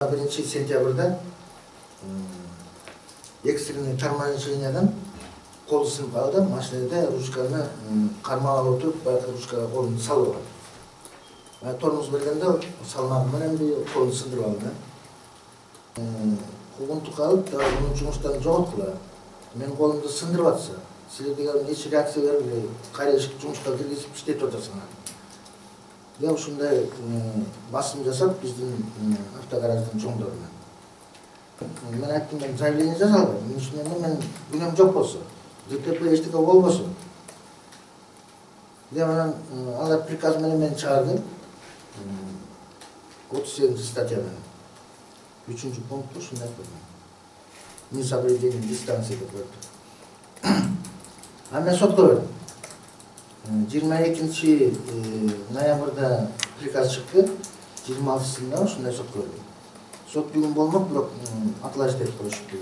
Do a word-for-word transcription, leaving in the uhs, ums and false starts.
биринчи сентябрда экстренный торможенияден кол сынып калды. Машинада ручканы кармап отуруп, баягы ручкага колун салып алды. Тормоз бергенде салмагы менен колун сындырып алды. Куугунтук алып, муну жумуштан жоготкула. Мен колумду сындырып атса, силер деген эч реакция бербей, кайра жумушка киргизип иштетип атасыңар. Я ушундай басым жасап биздин автогараждын чоңдоруна. Мен айттым, мен заявление жаза албайм. Эмне үчүн мен күнөөм жок болсо, ДТП эчтеке болбосо. Деп анан алар приказ менен мени чыгарды. отуз сегизинчи статья менен. үчүнчү пункту ушундай койгон. Несоблюдение дистанции деп коет. А мен сотко бердим. жыйырма экинчи ноябрда приказ чыкты. жыйырма алтысында ушундай сотко бердим. Сот бүгүн болмок, бирок аталаш деп коюшупту.